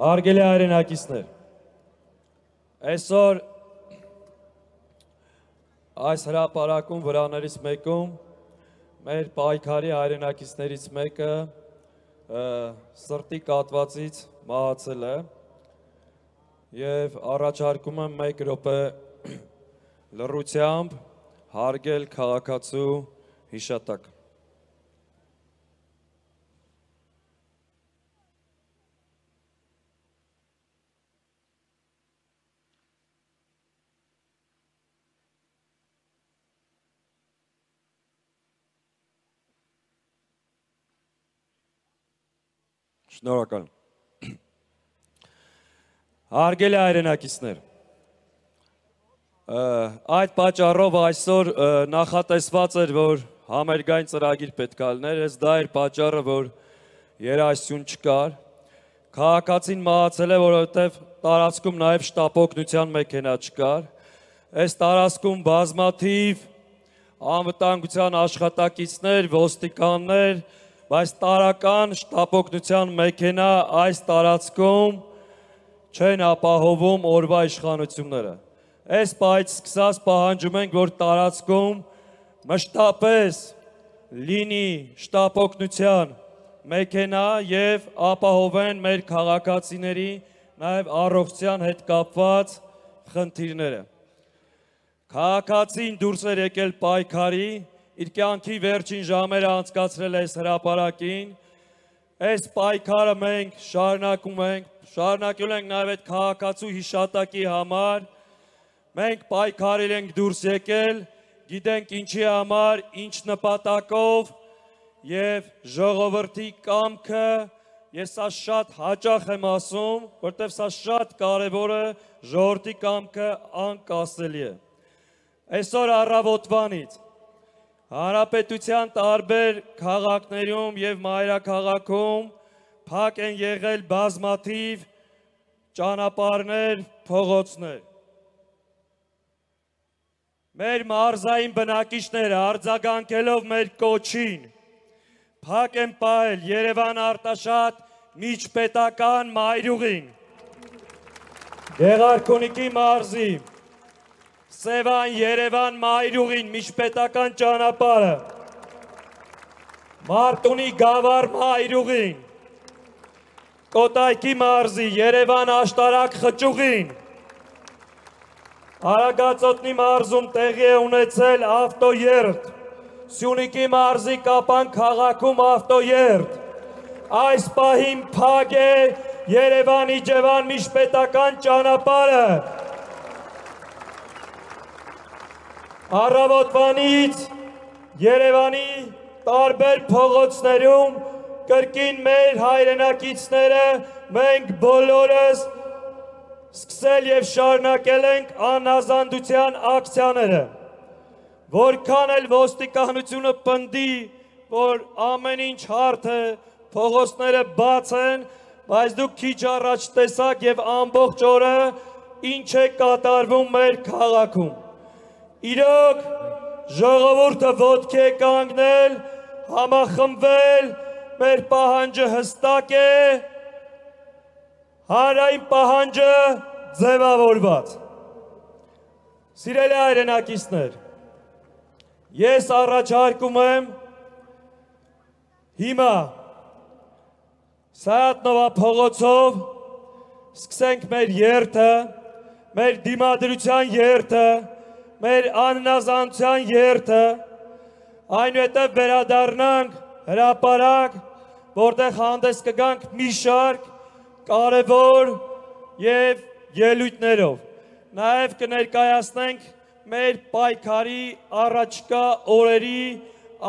Հարգելի հայրենակիցներ, այսօր այս հրապարակում վրաներից մեկում մեր պայքարի հայրենակիցներից մեկը սրտի կաթվածից մահացել է և առաջարկում եմ 1 րոպե լռությամբ հարգել քաղաքացու հիշատակը։ Շնորհակալ եմ։ Հարգելի հայրենակիցներ, այդ պատճառով այսօր նախատեսված էր, որ համերգային ծրագիր պետք է լիներ, դա էր պատճառը, որ երաժշտություն չկար։ Քաղաքացին մահացել է, որովհետև տարածքում նաև շտապօգնության մեքենա չկար։ Այս տարածքում բազմաթիվ անվտանգության աշխատակիցներ, ոստիկաններ, բայց տարական շտապօգնության մեքենա այս տարածքում չեն ապահովում օրվա իշխանությունները։ Այս պահից սկսած պահանջում ենք, որ տարածքում մշտապես լինի շտապօգնության մեքենա և ապահովեն մեր քաղաքացիների նաև առողջության հետ կապված խնդիրները։ Քաղաքացին դուրս էր եկել պայքարի, իր կյանքի վերջին ժամերը անցկացրել այս հրապարակին, այս պայքարը մենք շարունակել ենք նաև այդ քաղաքացու հիշատակի համար, մենք պայքարել ենք դուրս եկել, գիտենք ինչի համար, ինչ նպատակով և ժողովրդի կամքը, ես սա շատ հաճախ եմ ասում, որտև սա շատ կարևոր է, ժողովրդի կամքը անկասելի է։ Այսօր առավոտվանից Հանրապետության տարբեր քաղաքներում և մայրաքաղաքում փակ են եղել բազմաթիվ ճանապարհներ, փողոցներ։ Մեր մարզային բնակիչները արձագանքելով մեր կոչին փակ են պահել Երևան Արտաշատ միջպետական մայրուղին, Գեղարքունիքի մարզի Սևան Երևան մայրուղին միջպետական ճանապարհը, Մարտունի Գավառ մայրուղին, Կոտայքի մարզի Երևան Աշտարակ խճուղին, Արագածոտնի մարզում տեղի է ունեցել ավտոերթ, Սյունիքի մարզի Կապան քաղաքում ավտոերթ, այս պահին փակ է Երևան-Իջևան միջպետական ճանապարհը։ Առավոտվանից Երևանի տարբեր փողոցներում կրկին մեր հայրենակիցները մենք բոլորս սկսել և շարունակել ենք անհազանդության ակցիաները, որքան էլ ոստիկանությունը պնդի, որ ամեն ինչ հարթ է, փողոցները բաց են, բայց դուք քիչ առաջ տեսաք և ամբողջ օրը ինչ է կատարվում մեր քաղաքում։ Իրոք ժողովուրդը ոտքի է կանգնել, համախմբվել, մեր պահանջը հստակ է, հանրային պահանջը ձևավորված։ Սիրելի հայրենակիցներ, ես առաջարկում եմ հիմա Սայաթնովա փողոցով սկսենք մեր երթը, մեր դիմադրության երթը, մեր անհնազանդության երթը, այնուհետև վերադառնանք հրապարակ, որտեղ հանդես կգանք մի շարք կարևոր և ելույթներով։ Նաև կներկայացնենք մեր պայքարի առաջկա օրերի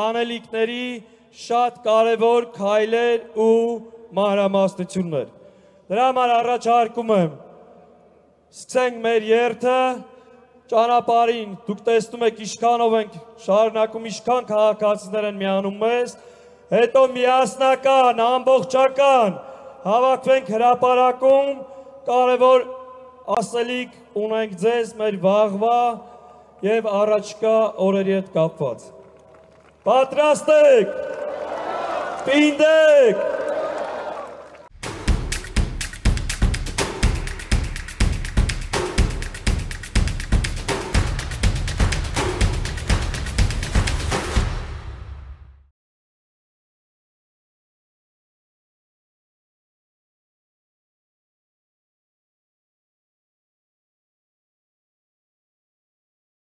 անելիքների շատ կարևոր քայլեր ու մանրամասնություններ։ Դրա համար առաջարկում եմ սկսենք մեր երթը, ճանապարհին դուք տեսնում եք ինչքանով ենք շարունակում, ինչքան քաղաքացիներ են միանում մեզ, հետո միասնական, ամբողջական հավաքվենք հրապարակում, կարևոր ասելիք ունենք ձեզ մեր վաղվա և առաջկա օրերի հետ կապված։ Պատրաստ եք, պինդ եք,